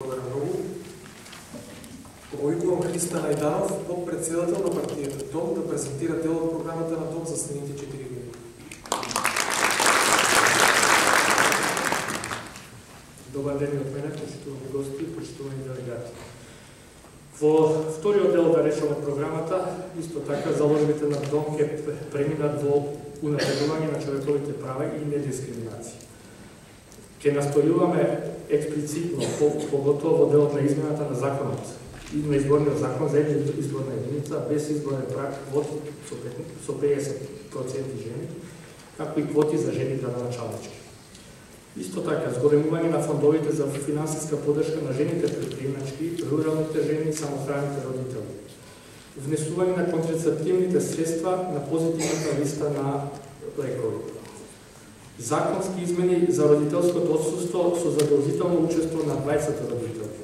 Благодарам многу. Повикувам Христа Најданов, подпредседател на партијата ДОМ, да презентира дел од програмата на ДОМ за следните 4 години. Добар ден од мене, почитувани гости и почитувани делегати. Во вториот дел, да речем, од програмата, исто така заложбите на ДОМ ќе преминат во унапредување на човековите права и недискриминација. Ќе настојуваме експлицитно, поготово во делот на измената на законот и на изборниот закон за изборна единица, без изборен праг, квоти со 50% жени, како и квоти за жени градоначалнички. Исто така, зголемување на фондовите за финансиска поддршка на жените предприемачки, руралните жени и самохраните родители. Внесување на контрацептивните средства на позитивната листа на лекови. Законски измени за родителското отсуство со задолжително учество на двајцата родители.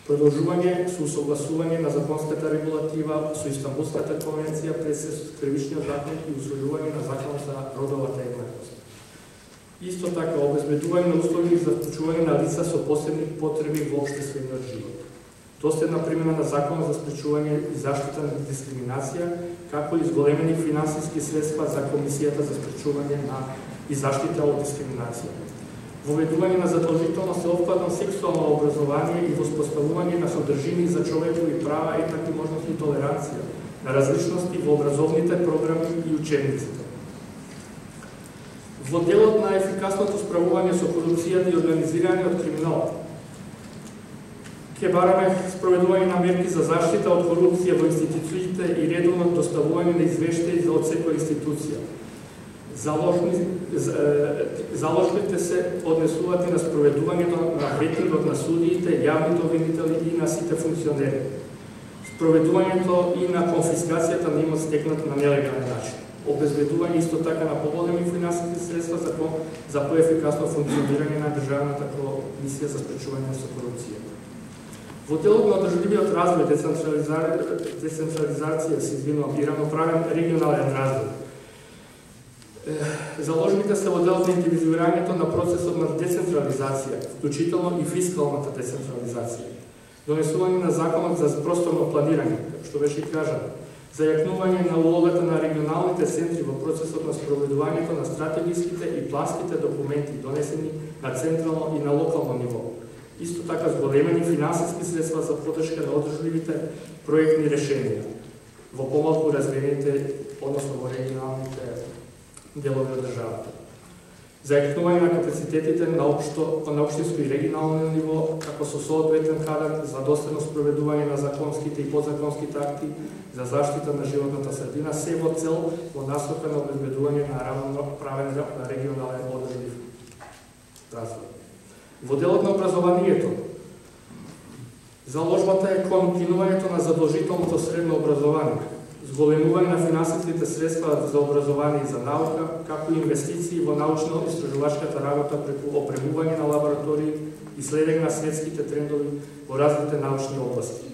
Продолжување со усогласување на законската регулатива со Истанбулската конвенција пред кривичниот закон и усвојување на законот за родовата еднаквост. Исто така, обезбедување на услови за вклучување на лица со посебни потреби во општествениот живот. Доследна примена на законот за спречување и заштита на дискриминација, како и зголемени финансиски средства за Комисијата за спречување на и заштита од дискриминација. Воведување на задолжително сеопфатно сексуално образование и воспоставување на содржини за човекови права, еднакви можности и толеранција на различности во образовните програми и учебниците. Во делот на ефикасното справување со корупцијата и организираниот криминал, ќе бараме спроведување на мерки за заштита од корупција во институциите и редовно доставување на извештаи од секоја институција. Заложбите се однесуваат и на спроведувањето на ветингот на судиите, јавните обвинители и на сите функционери. Спроведувањето и на конфискацијата на имот стекнат на нелегален начин. Обезбедување исто така на поголеми финансиски средства за поефикасно функционирање на Државната комисија за спречување со корупција. Во делот на одржливиот развој, децентрализација и равноправен регионален развој, заложбите се во делот на интензивирањето на процесот на децентрализација, вклучително и фискалната децентрализација. Донесување на законот за просторно планирање, што беше кажано, зајакнување на улогата на регионалните центри во процесот на спроведувањето на стратегиските и планските документи донесени на централно и на локално ниво. Исто така зголемени финансиски средства за поддршка на одржливите проектни решенија во помалку развиените, односно во регионалните делови од државата. Зајакнување на капацитетите на општинско и регионално ниво, како со соодветен кадар за доследно спроведување на законските и подзаконските акти за заштита на животната средина, се во цел во насока на обезбедување на равноправен регионален одржлив развој. Во делот на образованието, заложбата е кон кинувањето на задолжителното средно образование, зголемување на финансиските средства за образование и за наука, како и инвестиции во научно-истражувачката работа преку опремување на лаборатории и следење на светските трендови во различните научни области.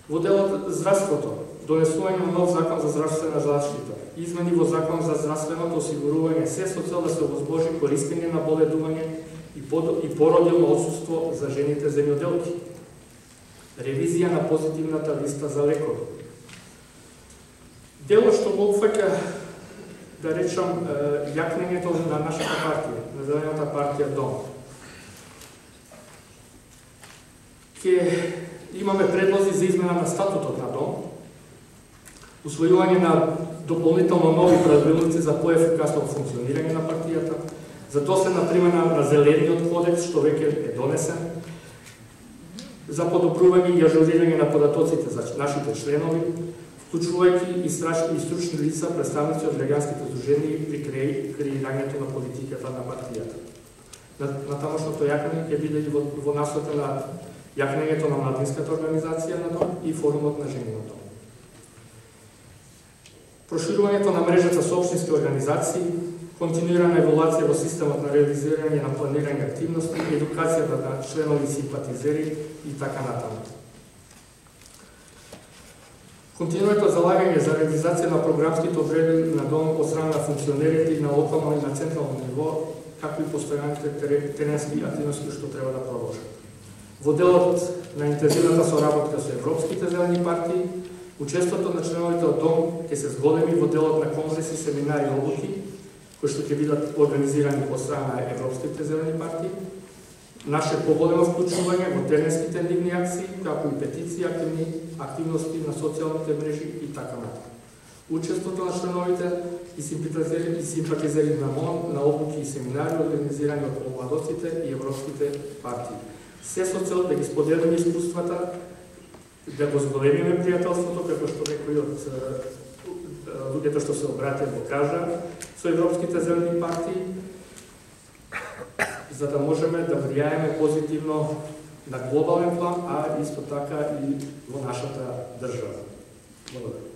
Во делот здравството, донесување на нов закон за здравствена заштита, измени во закон за здравственото осигурување, се со цел да се овозможи користење на боледување и породилно отсуство за жените земјоделки. Ревизија на позитивната листа за лекови. Дело што го опфаќа, да речам, јакнењето на нашата партија, на Зелената партија ДОМ. Ќе имаме предлози за измена на статутот на ДОМ, усвојување на дополнително нови правилници за поефикасно функционирање на партијата, за доследна примена на Зелениот кодекс, што веќе е донесен, за подобрување и ажурирање на податоците за нашите членови, вклучувајќи и стручни лица, представници од граѓанските здруженија при креирањето на политиката на партијата. На тамошното јакнење ќе биде и во насока на јакнењето на младинската организација на ДОМ и форумот на жени на ДОМ. Проширувањето на мрежата со општински организации, континуирана еволуација во системот на реализирање на планирање активности, едукацијата на членови симпатизери и така натаму. Континуето залагање за реализација на програмските одредби на ДОМ од страна на функционерите и на локално и на централно ниво, како и постојаните теренски активности што треба да продолжат. Во делот на интензивната соработка со европските зелени партии, учеството на членовите од ДОМ ќе се зголеми во делот на конгреси, семинари и обуки, кои што ќе бидат организирани од страна на европските зелени партии, наше поголемо вклучување во теренските нивни акции, како и петиции, активности на социјалните мрежи и така натаму. Учеството на членовите и симпатизери на МОН на обуки и семинари организирани од помладоците и европските партии. Се со цел да ги споделиме искуствата, да го зголемиме пријателството, како што некои од луѓето што се обратија го кажа, со европските зелени партии, за да можеме да влијаеме позитивно на глобален план, а исто така и во нашата држава. Благодарам.